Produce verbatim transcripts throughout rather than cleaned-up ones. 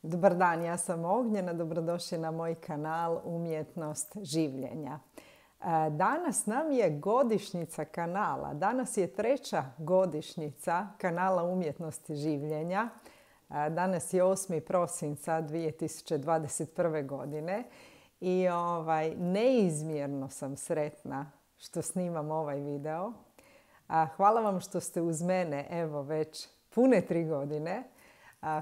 Dobar dan, ja sam Ognjena, dobrodošli na moj kanal Umjetnost življenja. Danas nam je godišnjica kanala, danas je treća godišnjica kanala Umjetnosti življenja. Danas je osmi prosinca dvije tisuće dvadeset prve. godine i ovaj, neizmjerno sam sretna što snimam ovaj video. Hvala vam što ste uz mene, evo već pune tri godine.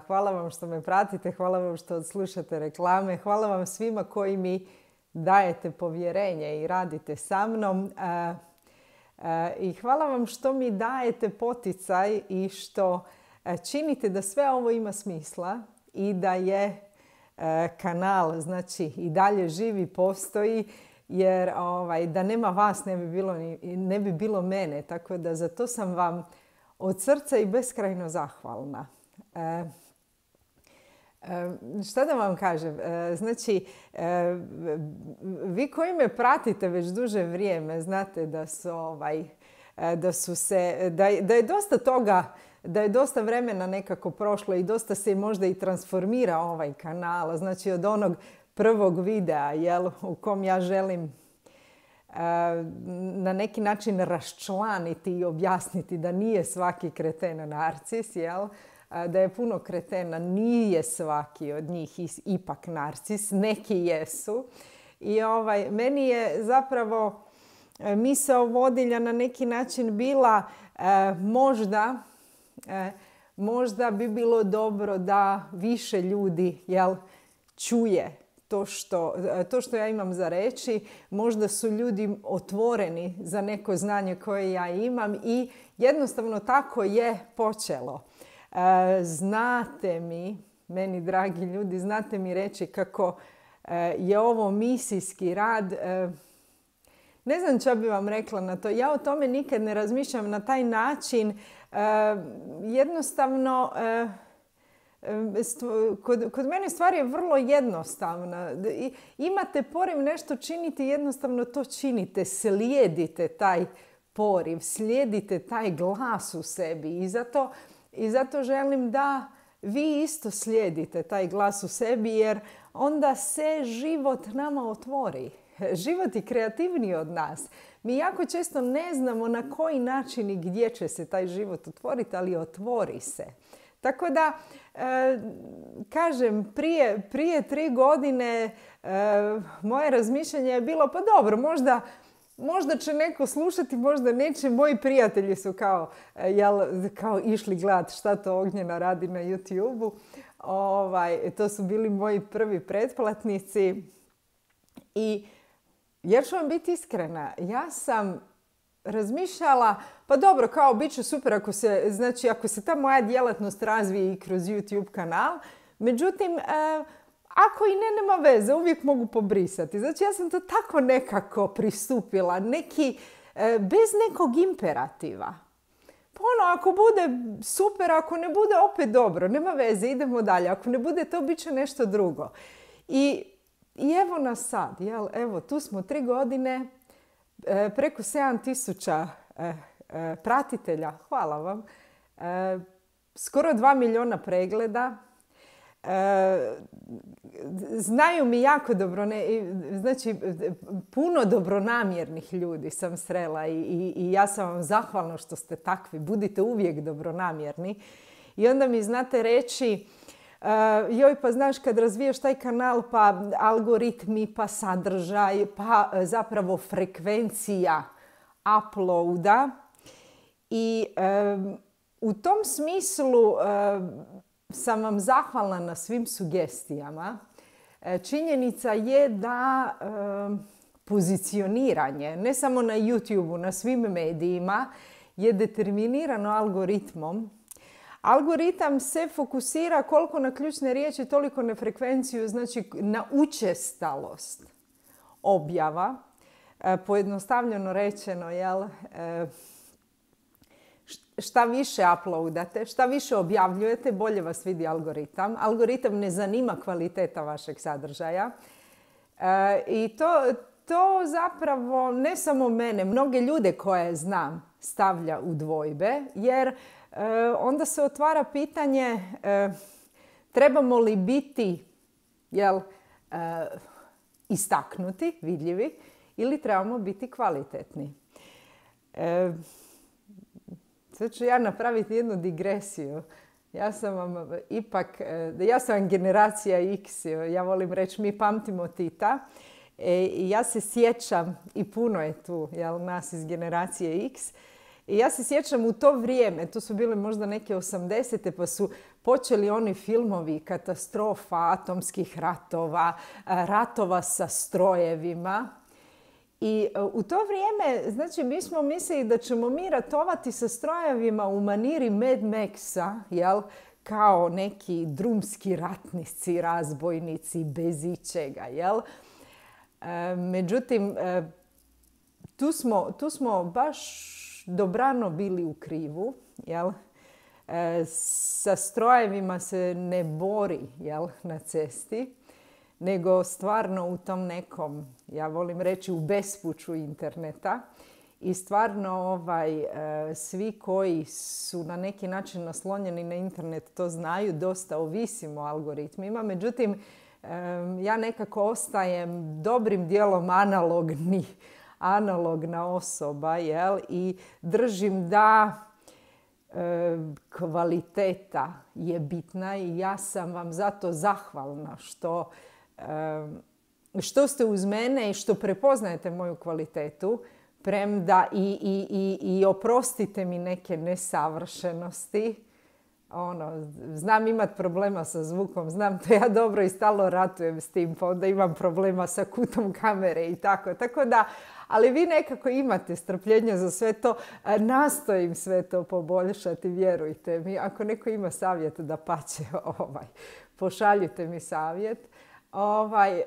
Hvala vam što me pratite, hvala vam što odslušate reklame, hvala vam svima koji mi dajete povjerenje i radite sa mnom. I hvala vam što mi dajete poticaj i što činite da sve ovo ima smisla i da je kanal, znači, i dalje živi, postoji, jer ovaj, da nema vas ne bi bilo, ne bi bilo mene. Tako da za to sam vam od srca i beskrajno zahvalna. E, e, šta da vam kažem? E, znači, e, vi koji me pratite već duže vrijeme znate da su, ovaj, da su se, da, da je dosta toga, da je dosta vremena nekako prošlo i dosta se možda i transformira ovaj kanal. Znači od onog prvog videa, jel, u kom ja želim na neki način raščlaniti i objasniti da nije svaki kreten narcis, jel? Da je puno kretena, nije svaki od njih ipak narcis, neki jesu. I ovaj, meni je zapravo misao vodilja na neki način bila eh, možda, eh, možda bi bilo dobro da više ljudi, jel, čuje To što, to što ja imam za reći. Možda su ljudi otvoreni za neko znanje koje ja imam i jednostavno tako je počelo. E, znate mi, meni dragi ljudi, znate mi reći kako e, je ovo misijski rad. E, ne znam šta bi vam rekla na to. Ja o tome nikad ne razmišljam na taj način. E, jednostavno... E, Kod, kod mene stvar je vrlo jednostavna. Imate poriv nešto činiti, jednostavno to činite. Slijedite taj poriv, slijedite taj glas u sebi. I zato, i zato želim da vi isto slijedite taj glas u sebi, jer onda se život nama otvori. Život je kreativniji od nas. Mi jako često ne znamo na koji način i gdje će se taj život otvoriti, ali otvori se. Tako da, e, kažem, prije, prije tri godine e, moje razmišljanje je bilo, pa dobro, možda, možda će neko slušati, možda neće. Moji prijatelji su kao, jel, kao išli gledati šta to Ognjena radi na YouTubeu. Ovaj, to su bili moji prvi pretplatnici. I jer ću vam biti iskrena, ja sam razmišljala, pa dobro, kao bit će super ako se, znači, ako se ta moja djelatnost razvije i kroz YouTube kanal. Međutim, e, ako i ne, nema veze, uvijek mogu pobrisati. Znači, ja sam to tako nekako pristupila, neki, e, bez nekog imperativa. Pa ono, ako bude super, ako ne bude, opet dobro, nema veze, idemo dalje. Ako ne bude to, bit će nešto drugo. I, i evo nas sad, jel? Evo, tu smo tri godine, e, preko sedam tisuća e, e, pratitelja, hvala vam, e, skoro dva milijuna pregleda. E, znaju mi jako dobro, ne, znači puno dobronamjernih ljudi sam srela i, i, i ja sam vam zahvalna što ste takvi. Budite uvijek dobronamjerni. I onda mi znate reći, uh, joj, pa znaš, kad razvijaš taj kanal, pa algoritmi, pa sadržaj, pa zapravo frekvencija uploada. I um, u tom smislu um, sam vam zahvalna na svim sugestijama. Činjenica je da e, pozicioniranje, ne samo na YouTubeu, na svim medijima, je determinirano algoritmom. Algoritam se fokusira koliko na ključne riječi, toliko na frekvenciju, znači na učestalost objava. E, pojednostavljeno rečeno, jel, e, šta više uploadate, šta više objavljujete, bolje vas vidi algoritam. Algoritam ne zanima kvaliteta vašeg sadržaja. E, I to, to zapravo ne samo mene, mnoge ljude koje znam stavlja u dvojbe, jer e, onda se otvara pitanje, e, trebamo li biti jel, uh, istaknuti, vidljivi, ili trebamo biti kvalitetni. E, sad ću ja napraviti jednu digresiju. Ja sam vam ipak, ja sam vam generacija X, ja volim reći mi pamtimo Tita. E, ja se sjećam, i puno je tu jel, nas iz generacije X, i ja se sjećam u to vrijeme, to su bile možda neke osamdesete, pa su počeli oni filmovi katastrofa, atomskih ratova, ratova sa strojevima. I u to vrijeme, znači, mi smo mislili da ćemo mi ratovati sa strojevima u maniri Mad Maxa, jel? Kao neki drumski ratnici, razbojnici, bez ičega, jel? E, međutim, e, tu, smo, tu smo baš dobrano bili u krivu, jel? E, sa strojevima se ne bori, jel, na cesti, nego stvarno u tom nekom, ja volim reći, u bespuću interneta. I stvarno ovaj, e, svi koji su na neki način naslonjeni na internet to znaju, dosta ovisimo o algoritmima. Međutim, e, ja nekako ostajem dobrim dijelom analogni, analogna osoba, jel? I držim da e, kvaliteta je bitna i ja sam vam zato zahvalna što što ste uz mene i što prepoznajete moju kvalitetu, premda i, i, i, i oprostite mi neke nesavršenosti. Ono, znam imat problema sa zvukom, znam to ja dobro i stalno ratujem s tim, pa onda imam problema sa kutom kamere i tako. Tako da, ali vi nekako imate strpljenja za sve to. Nastojim sve to poboljšati, vjerujte mi. Ako neko ima savjet, da pače, ovaj, pošaljite mi savjet. Ovaj,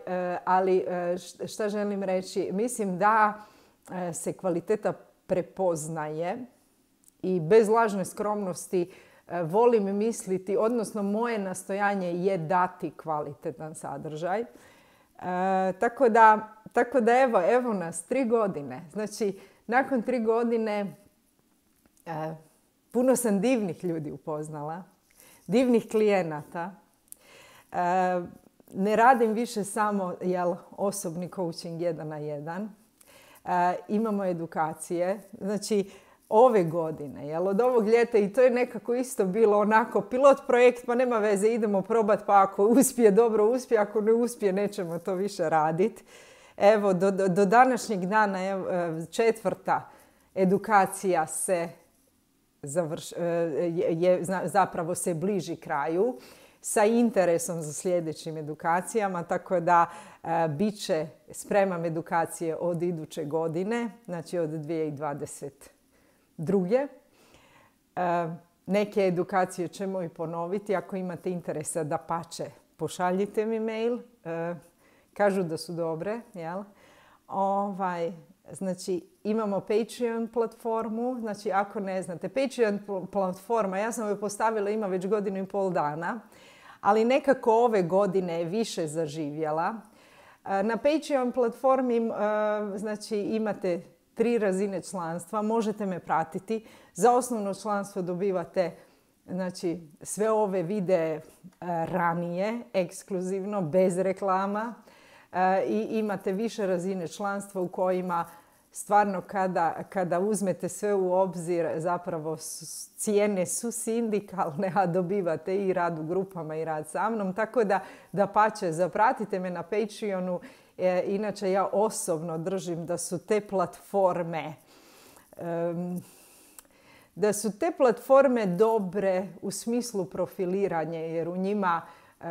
ali šta želim reći? Mislim da se kvaliteta prepoznaje i bez lažne skromnosti volim misliti, odnosno moje nastojanje je dati kvalitetan sadržaj. E, tako, da, tako da evo, evo nas, tri godine. Znači, nakon tri godine e, puno sam divnih ljudi upoznala, divnih klijenata. E, ne radim više samo jel, osobni coaching jedan na jedan. E, imamo edukacije. Znači, ove godine, jel, od ovog ljeta, i to je nekako isto bilo onako pilot projekt, pa nema veze, idemo probati, pa ako uspije, dobro uspije, ako ne uspije, nećemo to više raditi. Evo, do, do, do današnjeg dana evo, četvrta edukacija se završ, je, je, zapravo se bliži kraju sa interesom za sljedećim edukacijama, tako da e, bit će, spremam edukacije od iduće godine, znači od dvije tisuće dvadeset druge. E, neke edukacije ćemo i ponoviti. Ako imate interesa, da pače, pošaljite mi mail. E, kažu da su dobre. Jel? Ovaj, znači, imamo Patreon platformu. Znači, ako ne znate, Patreon platforma, ja sam ju postavila, ima već godinu i pol dana, ali nekako ove godine je više zaživjela. E, na Patreon platformi e, znači, imate tri razine članstva, možete me pratiti. Za osnovno članstvo dobivate znači, sve ove videe ranije, ekskluzivno, bez reklama. E, I imate više razine članstva u kojima stvarno kada, kada uzmete sve u obzir, zapravo cijene su sindikalne, a dobivate i rad u grupama i rad sa mnom. Tako da, da pače, zapratite me na Patreonu. E, inače, ja osobno držim da su te platforme um, da su te platforme dobre u smislu profiliranja, jer u njima uh,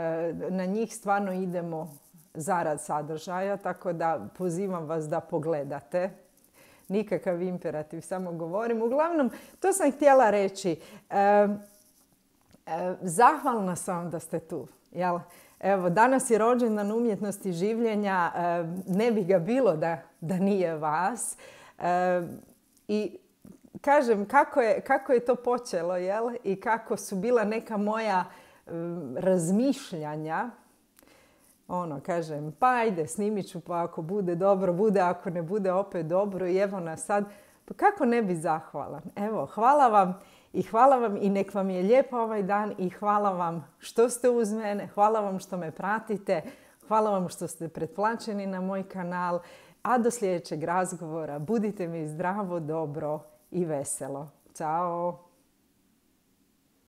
na njih stvarno idemo zarad sadržaja, tako da pozivam vas da pogledate. Nikakav imperativ, samo govorim. Uglavnom, to sam htjela reći. Uh, uh, zahvalna sam da ste tu, jel? Evo, danas je rođendan umjetnosti življenja, ne bi ga bilo da, da nije vas. I kažem, kako je, kako je to počelo, jel? I kako su bila neka moja razmišljanja. Ono, kažem, pa ajde, snimit ću, pa ako bude dobro, bude, ako ne bude opet dobro. I evo nas sad, pa kako ne bi zahvalan? Evo, hvala vam I hvala vam i nek vam je lijep ovaj dan i hvala vam što ste uz mene, hvala vam što me pratite, hvala vam što ste pretplaćeni na moj kanal, a do sljedećeg razgovora budite mi zdravo, dobro i veselo. Ćao!